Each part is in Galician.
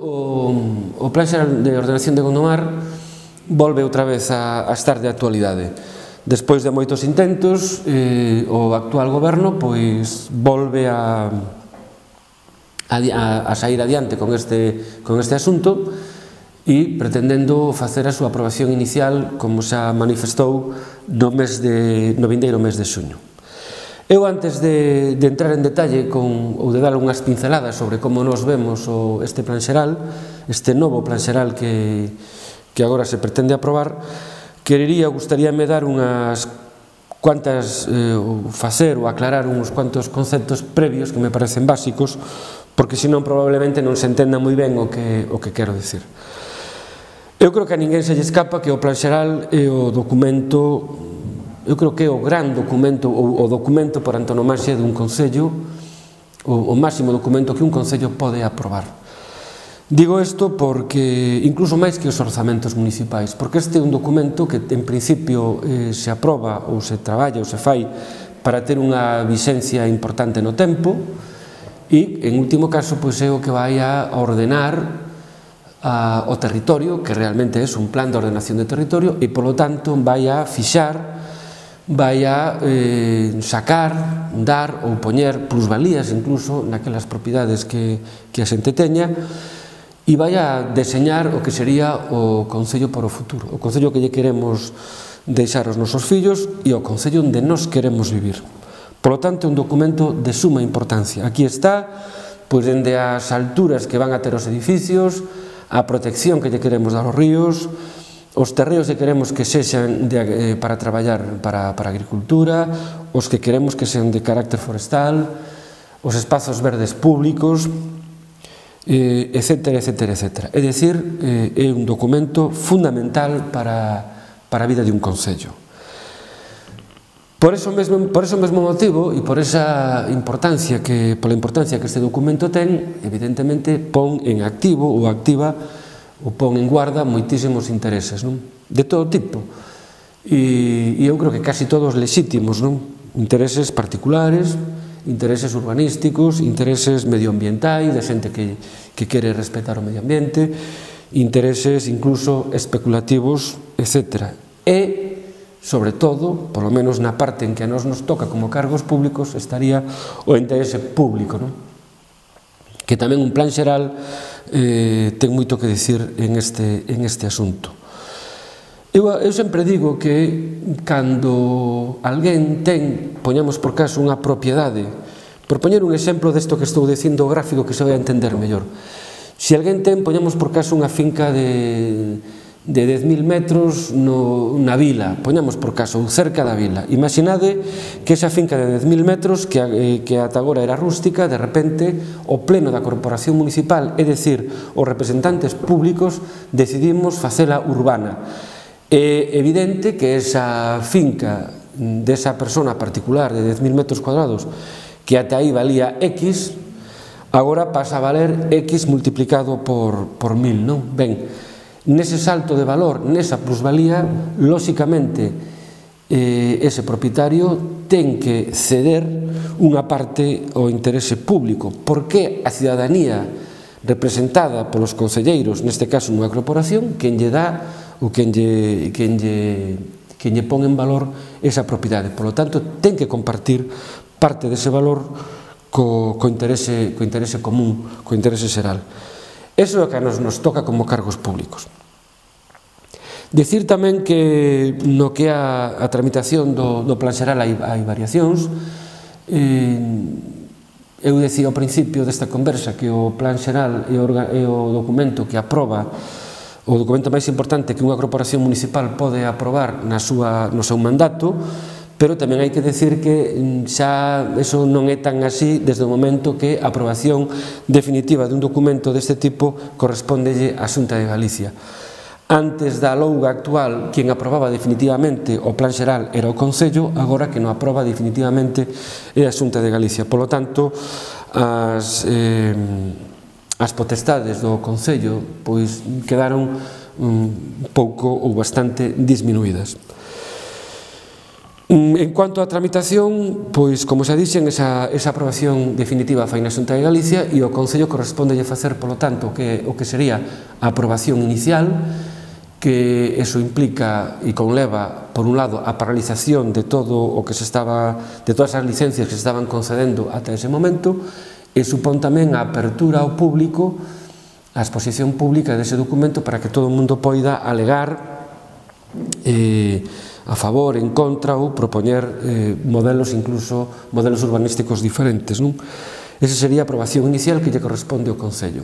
o Plan Xeral de Ordenación de Gondomar volve outra vez a estar de actualidade. Despois de moitos intentos, o actual goberno volve a sair adiante con este asunto e pretendendo facer a súa aprobación inicial, como xa manifestou, no vindeiro mes de xuño. Eu, antes de entrar en detalle ou de dar unhas pinceladas sobre como nos vemos este plan xeral, este novo plan xeral que agora se pretende aprobar, gustaríame dar unhas cuantas, facer ou aclarar uns cuantos conceptos previos que me parecen básicos, porque senón probablemente non se entenda moi ben o que quero dicir. Eu creo que a ninguén se lle escapa que o plan xeral é o documento, eu creo que é o gran documento, ou o documento por antonomasia dun concello, o máximo documento que un concello pode aprobar. Digo isto porque, incluso máis que os orzamentos municipais, porque este é un documento que en principio se aproba ou se traballa ou se fai para ter unha vixencia importante no tempo e, en último caso, é o que vai a ordenar o territorio, que realmente é un plan de ordenación de territorio, e, polo tanto, vai a fixar, vai a sacar, dar ou poñer plusvalías incluso naquelas propiedades que a xente teña, e vai a deseñar o que sería o concello para o futuro, o concello que lle queremos deixar aos nosos fillos e o concello onde nos queremos vivir. Polo tanto, é un documento de suma importancia. Aquí está, dende as alturas que van a ter os edificios, a protección que lle queremos dar aos ríos, os terreos que queremos que sexan para traballar para a agricultura, os que queremos que sean de carácter forestal, os espazos verdes públicos, etcétera, etcétera, etcétera. É dicir, é un documento fundamental para a vida de un concello. Por ese mesmo motivo e por esa importancia pola importancia que este documento ten, evidentemente pon en activo ou activa ou pon en guarda moitísimos intereses, de todo tipo, e eu creo que casi todos lexítimos, intereses particulares, intereses urbanísticos, intereses medioambientais, de xente que quere respetar o medio ambiente, intereses incluso especulativos, etc. E, sobre todo, polo menos na parte en que a nos toca como cargos públicos, estaría o interese público, que tamén un plan xeral ten moito que dicir en este asunto. Eu sempre digo que cando alguén poñamos por caso unha propiedade, por poñer un exemplo desto que estou dicindo gráfico que se vai a entender mellor, se alguén poñamos por caso unha finca de 10.000 metros na vila, poñamos por caso, cerca da vila. Imaginade que esa finca de 10.000 metros, que ata agora era rústica, de repente, o pleno da corporación municipal, é dicir, os representantes públicos, decidimos facela urbana. É evidente que esa finca desa persona particular de 10.000 metros cuadrados, que ata aí valía X, agora pasa a valer X multiplicado por 1.000, non? Ben, nese salto de valor, nesa plusvalía, lóxicamente, ese propietario ten que ceder unha parte ao interese público, porque a cidadanía representada polos concelleiros, neste caso nunha corporación, quen lle dá ou quen lle pon en valor esa propiedade. Por lo tanto, ten que compartir parte dese valor co interese común, co interese xeral. Iso é o que nos toca como cargos públicos. Dicir tamén que no que é a tramitación do plan xeral hai variacións. Eu decía ao principio desta conversa que o plan xeral é o documento que aproba, o documento máis importante que unha corporación municipal pode aprobar no seu mandato, pero tamén hai que decir que xa eso non é tan así desde o momento que a aprobación definitiva dun documento deste tipo correspóndelle á Xunta de Galicia. Antes da louga actual, quen aprobaba definitivamente o plan xeral era o Concello, agora que non aproba definitivamente é a Xunta de Galicia. Por lo tanto, as potestades do Concello quedaron un pouco ou bastante disminuídas. En cuanto á tramitación, pois, como xa dixen, esa aprobación definitiva fai na Xunta de Galicia e o Concello correspondelle facer, polo tanto, o que sería a aprobación inicial, que eso implica e conleva, por un lado, a paralización de todo o que de todas as licencias que se estaban concedendo ata ese momento, e supón tamén a apertura ao público, a exposición pública dese documento para que todo o mundo poida alegar a favor, en contra ou propoñer modelos, incluso modelos urbanísticos diferentes. Esa sería a aprobación inicial que lle corresponde ao Concello.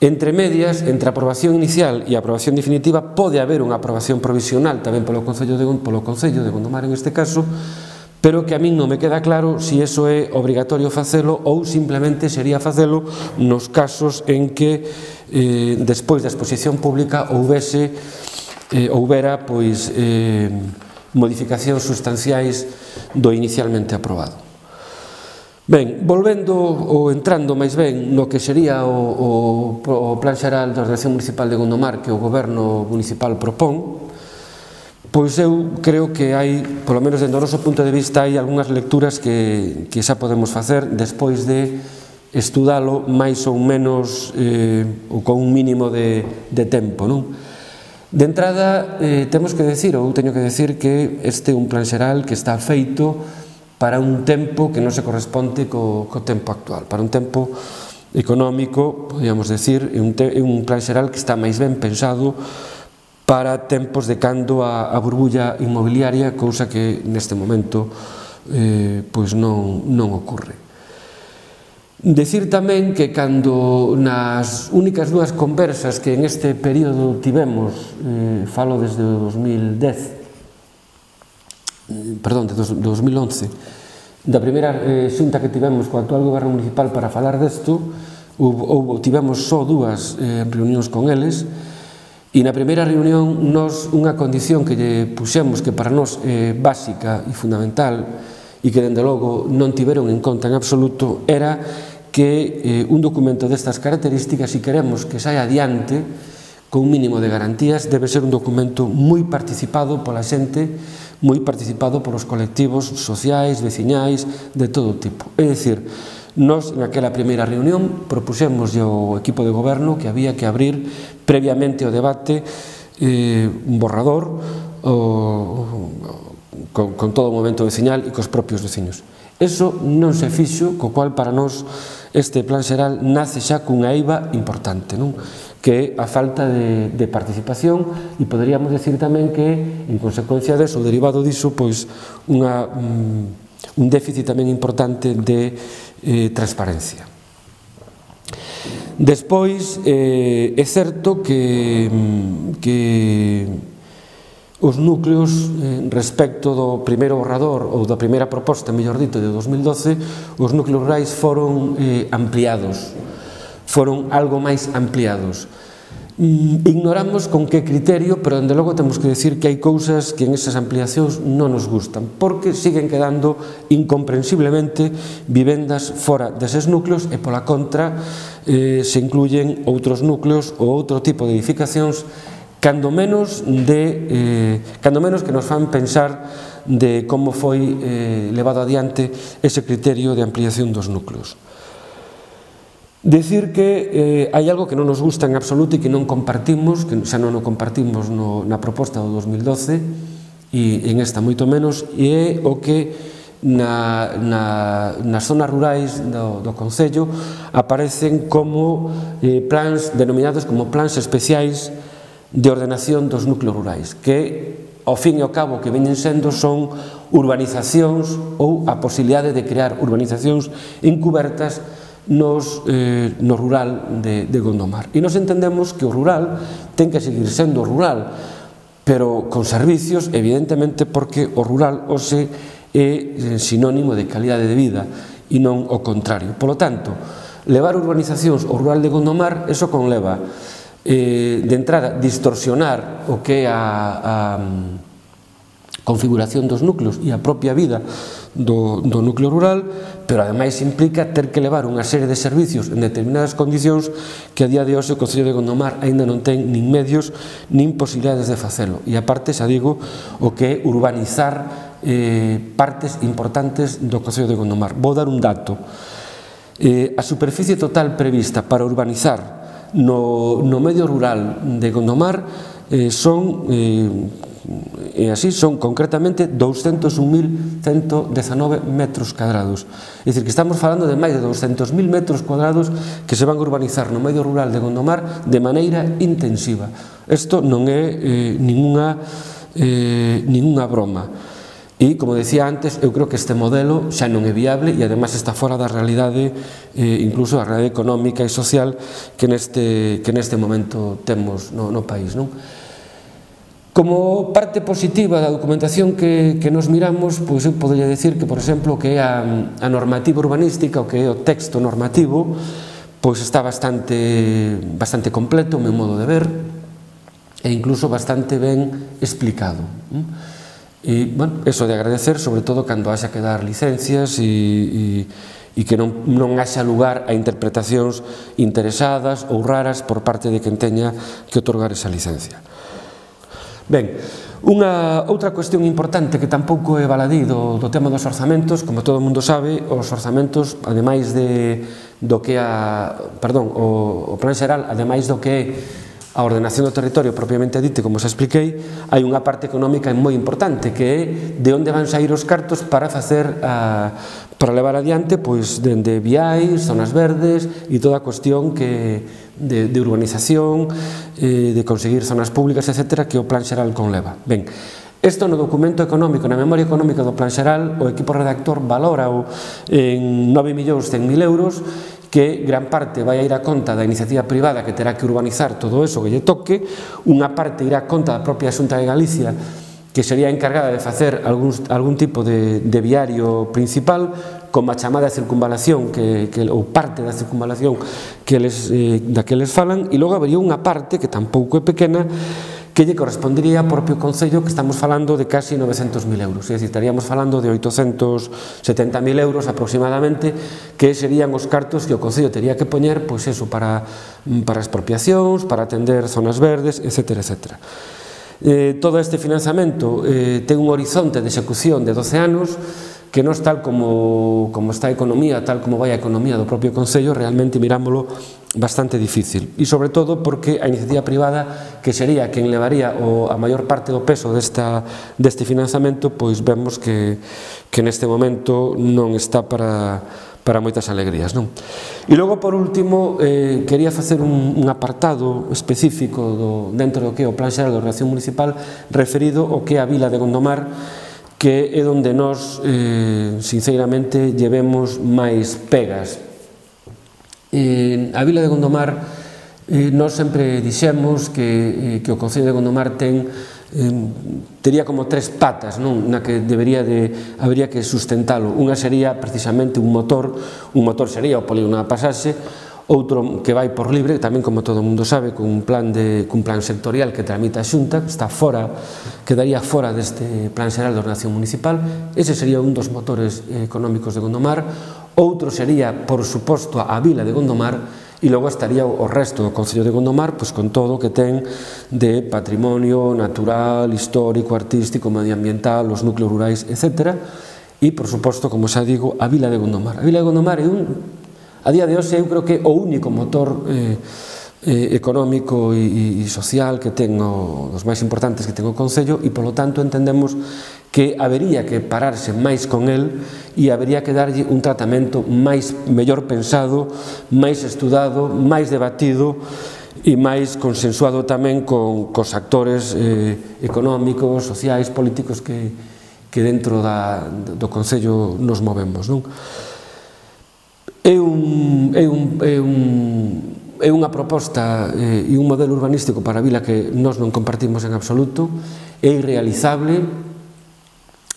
Entre medias, entre a aprobación inicial e a aprobación definitiva, pode haber unha aprobación provisional tamén polo Concello de Gondomar en este caso, pero que a min non me queda claro se iso é obrigatorio facelo ou simplemente sería facelo nos casos en que despois da exposición pública houbera modificacións sustanciais do inicialmente aprobado. Ben, volvendo ou entrando máis ben no que sería o Plan Xeral de Ordenación Municipal de Gondomar que o Goberno Municipal propón, pois eu creo que hai, polo menos dentro do noso punto de vista, hai algunhas lecturas que xa podemos facer despois de estudalo máis ou menos ou con un mínimo de tempo, non? De entrada, temos que decir, ou teño que decir, que este é un plan xeral que está feito para un tempo que non se corresponde co tempo actual, para un tempo económico, podríamos decir, é un plan xeral que está máis ben pensado para tempos de cando a burbulla inmobiliaria, cousa que neste momento pois non ocorre. Decir tamén que cando nas únicas dúas conversas que en este período tivemos, falo desde o 2011, da primeira xunta que tivemos co actual Goberno Municipal para falar desto, tivemos só dúas reunións con eles, e na primeira reunión unha condición que lle puxemos que para nós é básica e fundamental e que dende logo non tiveron en conta en absoluto era que un documento destas características, se queremos que saia adiante con un mínimo de garantías, debe ser un documento moi participado pola xente, moi participado polos colectivos sociais, veciñais, de todo tipo. É dicir, nós, naquela primeira reunión, propuxemos ao equipo de goberno que había que abrir previamente o debate un borrador con todo o movimento veciñal e cos propios veciños. Eso non se fixo, co cual para nós este plan xeral nace xa cunha eiva importante, que é a falta de participación e poderíamos decir tamén que, en consecuencia deso, derivado diso, pois un déficit tamén importante de transparencia. Despois, é certo que os núcleos, respecto do primeiro borrador ou da primeira proposta, mellor dito, de 2012, os núcleos rurais foron ampliados, foron algo máis ampliados. Ignoramos con que criterio, pero dende logo temos que decir que hai cousas que en esas ampliacións non nos gustan, porque siguen quedando incomprensiblemente vivendas fora deses núcleos e pola contra se incluyen outros núcleos ou outro tipo de edificacións cando menos que nos fan pensar de como foi levado adiante ese criterio de ampliación dos núcleos. Decir que hai algo que non nos gusta en absoluto e que non compartimos, que xa non o compartimos na proposta do 2012 e en esta moito menos, e é o que nas zonas rurais do Concello aparecen como plans denominados como plans especiais de ordenación dos núcleos rurais, que ao fin e ao cabo que veñen sendo son urbanizacións ou a posibilidade de crear urbanizacións encubertas no rural de Gondomar. E nos entendemos que o rural ten que seguir sendo rural, pero con servicios, evidentemente, porque o rural hoxe é sinónimo de calidade de vida e non o contrario. Polo tanto, levar urbanizacións ao rural de Gondomar, eso conleva de entrada distorsionar o que é a configuración dos núcleos e a propia vida do núcleo rural, pero ademais implica ter que levar unha serie de servicios en determinadas condicións que a día de hoxe o Concello de Gondomar aínda non ten nin medios nin posibilidades de facelo, e aparte, xa digo, o que é urbanizar partes importantes do Concello de Gondomar. Vou dar un dato. A superficie total prevista para urbanizar no medio rural de Gondomar son concretamente 201.119 metros cuadrados. É dicir, que estamos falando de máis de 200.000 metros cuadrados que se van a urbanizar no medio rural de Gondomar de maneira intensiva. Isto non é ninguna broma. E, como decía antes, eu creo que este modelo xa non é viable e, ademais, está fora da realidade, incluso da realidade económica e social que neste momento temos no país. Como parte positiva da documentación que nos miramos, eu podría decir que, por exemplo, que a normativa urbanística, o que é o texto normativo, está bastante completo, o meu modo de ver, e incluso bastante ben explicado. E, bueno, eso de agradecer, sobre todo cando haxa que dar licencias e que non haxa lugar a interpretacións interesadas ou raras por parte de quen teña que otorgar esa licencia. Ben, outra cuestión importante que tampouco é baladí do tema dos orzamentos, como todo o mundo sabe, os orzamentos, ademais do que o plan xeral, ademais do que é a ordenación do territorio propiamente dite, como xa expliquei, hai unha parte económica moi importante, que é de onde van sair os cartos para levar adiante dende viais, zonas verdes e toda a cuestión de urbanización, de conseguir zonas públicas, etc., que o plan xeral conleva. Ben, isto no documento económico, na memoria económica do plan xeral, o equipo redactor valora en 9.100.000 euros, que gran parte vai a ir a conta da iniciativa privada que terá que urbanizar todo eso que lle toque, unha parte irá a conta da propia Xunta de Galicia, que sería encargada de facer algún tipo de viario principal, como a chamada circunvalación, ou parte da circunvalación da que eles falan, e logo habería unha parte, que tampouco é pequena, que lle correspondería ao propio Concello, que estamos falando de casi 900.000 euros, é dicir, estaríamos falando de 870.000 euros aproximadamente, que serían os cartos que o Concello tería que poñer, pois eso, para expropiacións, para atender zonas verdes, etc. Todo este financiamento ten un horizonte de execución de 12 anos, que non tal como está a economía, tal como vai a economía do propio Concello, realmente mirámoslo bastante difícil. E sobre todo porque a iniciativa privada, que sería quen levaría a maior parte do peso deste financiamento, pois vemos que neste momento non está para moitas alegrías. E logo, por último, quería facer un apartado específico dentro do que é o Plan Xeral de Ordenación Municipal referido ao que é a vila de Gondomar, que é onde nós, sinceramente, llevemos máis pegas. A vila de Gondomar, nós sempre dixemos que o Concello de Gondomar tería como tres patas na que habería que sustentalo. Unha sería precisamente un motor sería o polígono da Pasaxe, outro que vai por libre, tamén como todo o mundo sabe, cun plan sectorial que tramita a Xunta, quedaría fora deste plan xeral de ordenación municipal. Ese sería un dos motores económicos de Gondomar. Outro sería, por suposto, a vila de Gondomar, e logo estaría o resto do Concello de Gondomar con todo o que ten de patrimonio natural, histórico, artístico, medioambiental, os núcleos rurais, etc. E, por suposto, como xa digo, a vila de Gondomar. A vila de Gondomar é a día de hoxe eu creo que o único motor económico e social que ten, dos máis importantes que ten o Concello, e polo tanto entendemos que habería que pararse máis con el e habería que darlle un tratamento mellor pensado, máis estudado, máis debatido e máis consensuado tamén cos actores económicos, sociais, políticos que dentro do Concello nos movemos. É unha proposta e un modelo urbanístico para a vila que nós non compartimos en absoluto, é irrealizable,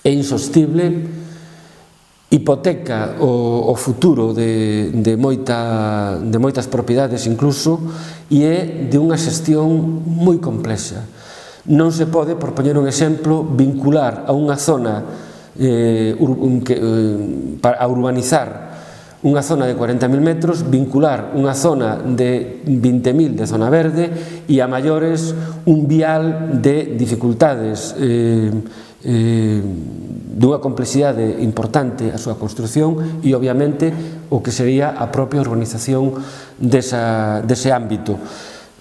é insostible, hipoteca o futuro de moitas propiedades incluso, e é de unha xestión moi complexa. Non se pode, por poñer un exemplo, vincular a unha zona a urbanizar unha zona de 40.000 metros, vincular unha zona de 20.000 de zona verde e a maiores un vial de dificultades dunha complexidade importante a súa construción e, obviamente, o que sería a propia urbanización dese ámbito,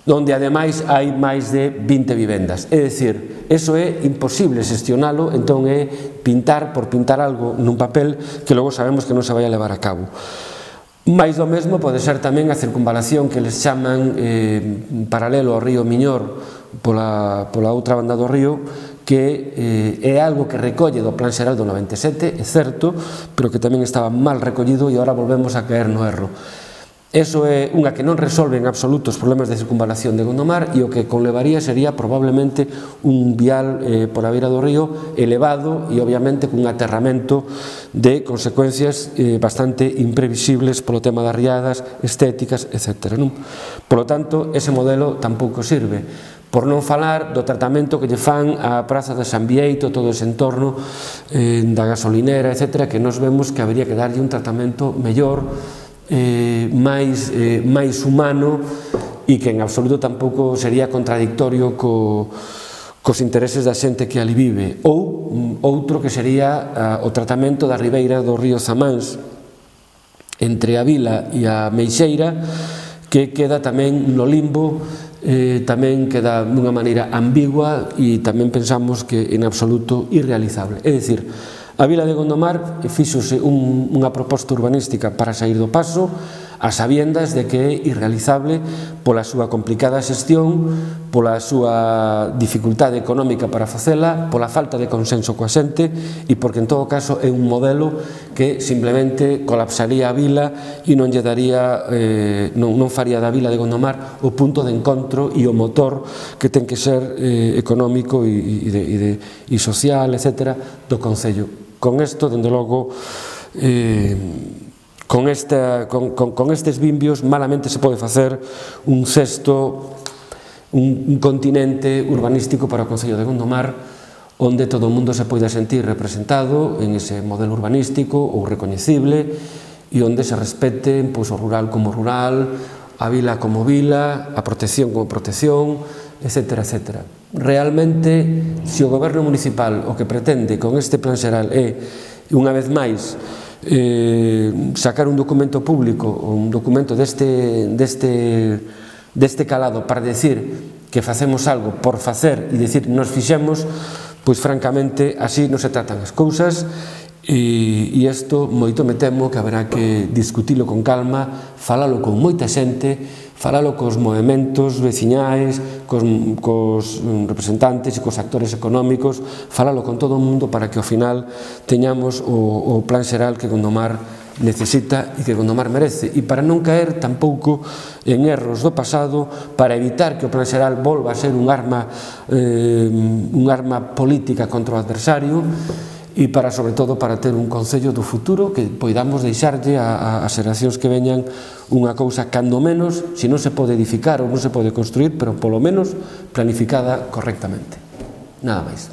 onde, ademais, hai máis de 20 vivendas. É dicir, eso é imposible xestionalo, entón é pintar por pintar algo nun papel que logo sabemos que non se vai a levar a cabo. Mais do mesmo pode ser tamén a circunvalación que les chaman paralelo ao río Miñor pola outra banda do río, que é algo que recolle do Plan Xeral do 97, é certo, pero que tamén estaba mal recollido e agora volvemos a caer no erro. Eso é unha que non resolve en absoluto os problemas de circunvalación de Gondomar e o que conlevaría sería probablemente un vial pola beira do río elevado e obviamente cun aterramento de consecuencias bastante imprevisibles polo tema das riadas, estéticas, etc. Por lo tanto, ese modelo tampouco sirve. Por non falar do tratamento que lle fan á Praza de San Bieito, todo ese entorno da gasolinera, etc., que nos vemos que habría que darlle un tratamento mellor, máis humano e que en absoluto tampouco sería contradictorio cos intereses da xente que ali vive. Ou outro que sería o tratamento da ribeira do río Zamáns entre a vila e a Meixeira, que queda tamén no limbo, tamén queda dunha maneira ambigua e tamén pensamos que en absoluto irrealizable. É dicir, a vila de Gondomar fíxose unha proposta urbanística para sair do paso a sabiendas de que é irrealizable pola súa complicada xestión, pola súa dificultade económica para facela, pola falta de consenso coa xente e porque en todo caso é un modelo que simplemente colapsaría a vila e non lle daría, non faría da vila de Gondomar o punto de encontro e o motor que ten que ser económico e social, etc., do Concello. Con isto, dende logo, con estes vimbios malamente se pode facer un continente urbanístico para o Concello de Gondomar onde todo o mundo se poida sentir representado en ese modelo urbanístico ou recoñecible e onde se respete o rural como rural, a vila como vila, a protección como protección, etc., etc. Realmente, se o goberno municipal o que pretende con este plan xeral é, unha vez máis, sacar un documento público ou un documento deste calado para decir que facemos algo por facer e decir nos fixemos, pois francamente así non se tratan as cousas e isto moito me temo que haberá que discutilo con calma, falalo con moita xente, falalo cos movementos veciñais, cos representantes e cos actores económicos, falalo con todo o mundo para que ao final teñamos o plan xeral que Gondomar necesita e que Gondomar merece, e para non caer tampouco en erros do pasado, para evitar que o plan xeral volva a ser un arma política contra o adversario e para, sobre todo, para ter un Concello do futuro que poidamos deixarlle ás xeracións que veñan unha cousa cando menos, se non se pode edificar ou non se pode construir, pero polo menos planificada correctamente. Nada máis.